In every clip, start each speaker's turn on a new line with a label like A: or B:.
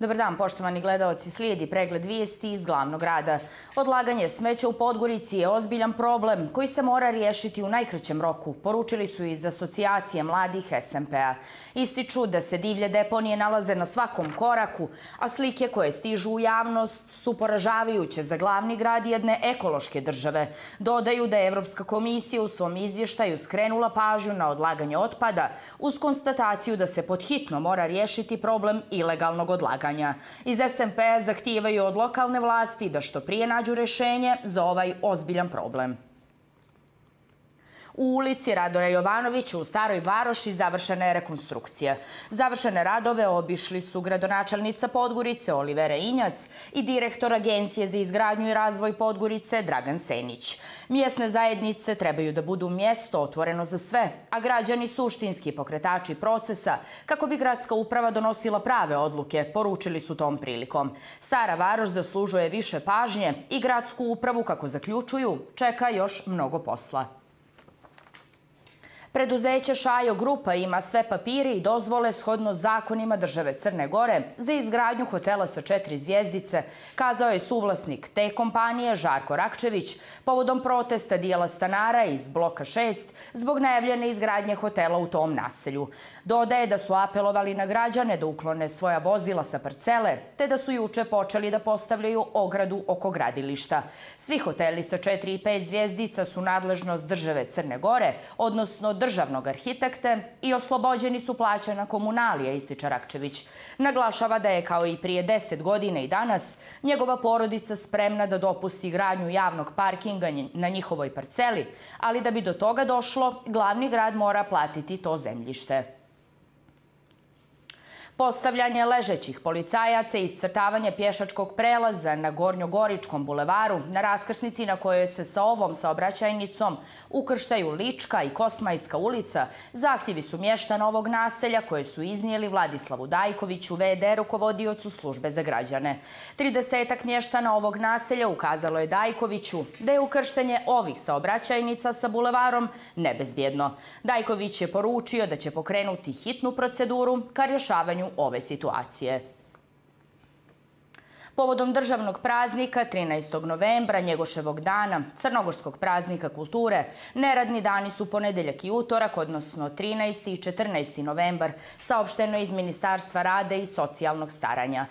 A: Dobar dan, poštovani gledaoci, slijedi pregled vijesti iz glavnog grada. Odlaganje smeća u Podgorici je ozbiljan problem koji se mora riješiti u najkraćem roku, poručili su iz Asocijacije mladih SMP-a. Ističu da se divlje deponije nalaze na svakom koraku, a slike koje stižu u javnost su poražavajuće za glavni grad jedne ekološke države. Dodaju da je Evropska komisija u svom izvještaju skrenula pažnju na odlaganje otpada uz konstataciju da se podhitno mora riješiti problem ilegalnog odlaganja. Iz SMP-a zahtijevaju od lokalne vlasti da što prije nađu rješenje za ovaj ozbiljan problem. U ulici Radoja Jovanovića u Staroj Varoši završena je rekonstrukcija. Završene radove obišli su gradonačelnica Podgorice Olivera Injac i direktor Agencije za izgradnju i razvoj Podgorice Dragan Senić. Mjesne zajednice trebaju da budu mjesto otvoreno za sve, a građani suštinski pokretači procesa kako bi gradska uprava donosila prave odluke, poručili su tom prilikom. Stara Varoš zaslužuje više pažnje i gradsku upravu, kako zaključuju, čeka još mnogo posla. Preduzeće Šajo Grupa ima sve papire i dozvole shodno zakonima države Crne Gore za izgradnju hotela sa 4 zvjezdice, kazao je suvlasnik te kompanije Žarko Rakčević povodom protesta dijela stanara iz bloka 6 zbog najavljene izgradnje hotela u tom naselju. Dodaje da su apelovali na građane da uklone svoja vozila sa parcele, te da su juče počeli da postavljaju ogradu oko gradilišta. Svi hoteli sa 4 i 5 zvjezdica su nadležnost države Crne Gore, odnosno državnog arhitekte, i oslobođeni su plaćanja komunalija, ističe Rakčević. Naglašava da je kao i prije 10 godina i danas njegova porodica spremna da dopusti gradnju javnog parkinga na njihovoj parceli, ali da bi do toga došlo, glavni grad mora platiti to zemljište. Postavljanje ležećih policajaca i iscrtavanje pješačkog prelaza na Gornjogoričkom bulevaru, na raskrsnici na kojoj se sa ovom saobraćajnicom ukrštaju Lička i Kosmajska ulica, zahtjevi su mještana ovog naselja koje su iznijeli Vladislavu Dajkoviću, VD rukovodiocu službe za građane. 30-ak mještana ovog naselja ukazalo je Dajkoviću da je ukrštanje ovih saobraćajnica sa bulevarom nebezbjedno. Dajković je poručio da će pokrenuti hitnu proceduru ka rješavanju ove situacije. Povodom državnog praznika 13. novembra, Njegoševog dana, Crnogorskog praznika kulture, neradni dani su ponedjeljak i utorak, odnosno 13. i 14. novembar, saopšteno iz Ministarstva rada i socijalnog staranja.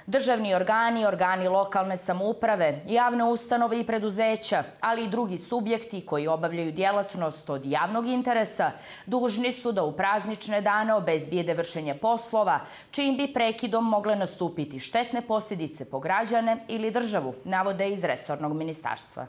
A: Državni organi, organi lokalne samouprave, javne ustanove i preduzeća, ali i drugi subjekti koji obavljaju djelatnost od javnog interesa, dužni su da u praznične dane obezbijede vršenje poslova, čijim bi prekidom mogle nastupiti štetne posljedice po građane ili državu, navode iz resornog ministarstva.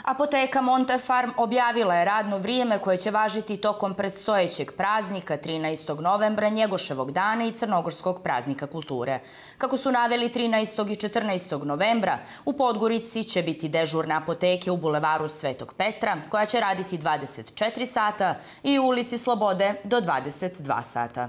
A: Apoteka Montefarm objavila je radno vrijeme koje će važiti tokom predstojećeg praznika 13. novembra, Njegoševog dana i Crnogorskog praznika kulture. Kako su naveli 13. i 14. novembra, u Podgorici će biti dežurna apoteke u bulevaru Svetog Petra, koja će raditi 24 sata, i u ulici Slobode do 22 sata.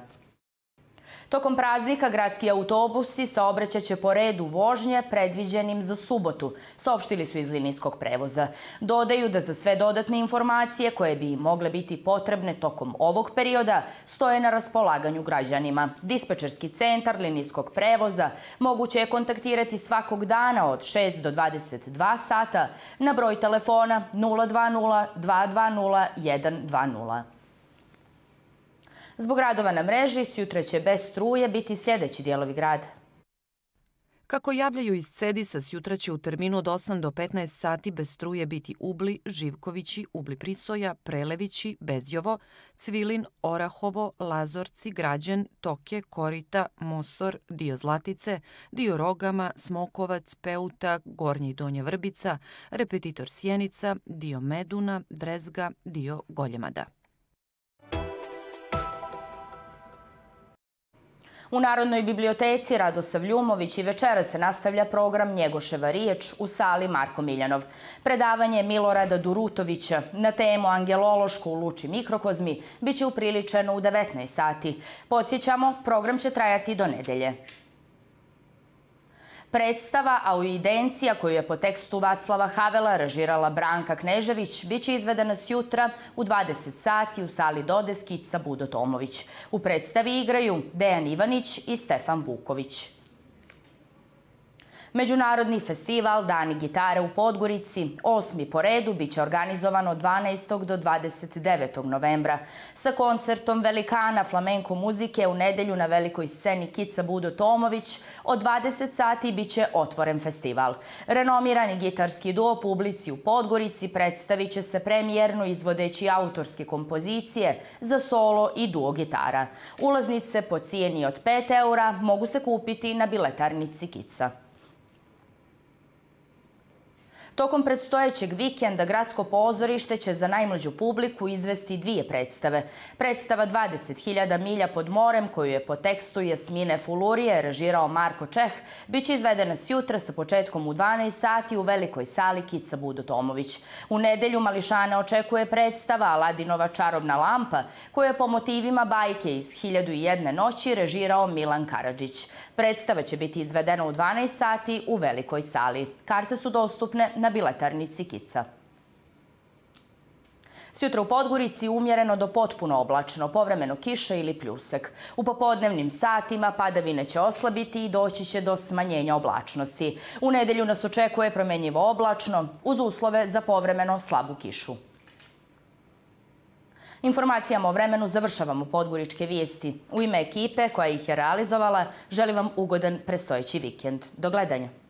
A: Tokom praznika gradski autobusi saobraćaće po redu vožnje predviđenim za subotu, saopštili su iz linijskog prevoza. Dodaju da za sve dodatne informacije koje bi mogle biti potrebne tokom ovog perioda stoje na raspolaganju građanima. Dispečerski centar linijskog prevoza moguće je kontaktirati svakog dana od 6 do 22 sata na broj telefona 020 220 120. Zbog radova na mreži, sjutra će bez struje biti sljedeći dijelovi grada.
B: Kako javljaju iz Cedisa, sjutra će u terminu od 8 do 15 sati bez struje biti Ubli, Živkovići, Ubli Prisoja, Prelevići, Bezjovo, Cvilin, Orahovo, Lazorci, Građen, Toke, Korita, Mosor, dio Zlatice, dio Rogama, Smokovac, Peuta, Gornje i Donje Vrbica, Repetitor Sjenica, dio Meduna, Drezga, dio Goljemada.
A: U Narodnoj biblioteci Radosav Ljumović i večeras se nastavlja program Njegoševa riječ u sali Marko Miljanov. Predavanje Milorada Durutovića na temu Angelološko u Luči mikrokozmi biće upriličeno u 19 sati. Podsjećamo, program će trajati do nedelje. Predstava Auidencija, koju je po tekstu Vaclava Havela režirala Branka Knežević, biće izvedena sjutra u 20 sati u sali Dodeskica Budo Tomović. U predstavi igraju Dejan Ivanić i Stefan Vuković. Međunarodni festival Dani gitare u Podgorici, 8. po redu, biće organizovan od 12. do 29. novembra. Sa koncertom velikana flamenko muzike u nedelju na velikoj sceni Kica Budo Tomović od 20 sati biće otvoren festival. Renomirani gitarski duo publici u Podgorici predstavit će se premijerno izvodeći autorske kompozicije za solo i duo gitara. Ulaznice po cijeni od 5 eura mogu se kupiti na biletarnici Kica. Tokom predstojećeg vikenda Gradsko pozorište će za najmlađu publiku izvesti 2 predstave. Predstava 20.000 milja pod morem, koju je po tekstu Jasmine Fulurije režirao Marko Čeh, biće izvedena sjutra sa početkom u 12 sati u velikoj sali Kica Budo Tomović. U nedelju mališane očekuje predstava Aladinova čarobna lampa, koju je po motivima bajke iz 1001 noći režirao Milan Karadžić. Predstava će biti izvedena u 12 sati u velikoj sali. Karte su dostupne na biletarnici Kica. Sjutra u Podgorici umjereno do potpuno oblačno, povremeno kiša ili pljusak. U popodnevnim satima padavine će oslabiti i doći će do smanjenja oblačnosti. U nedelju nas očekuje promenjivo oblačno, uz uslove za povremeno slabu kišu. Informacijama o vremenu završavamo Podgoričke vijesti. U ime ekipe koja ih je realizovala, želim vam ugodan predstojeći vikend. Do gledanja.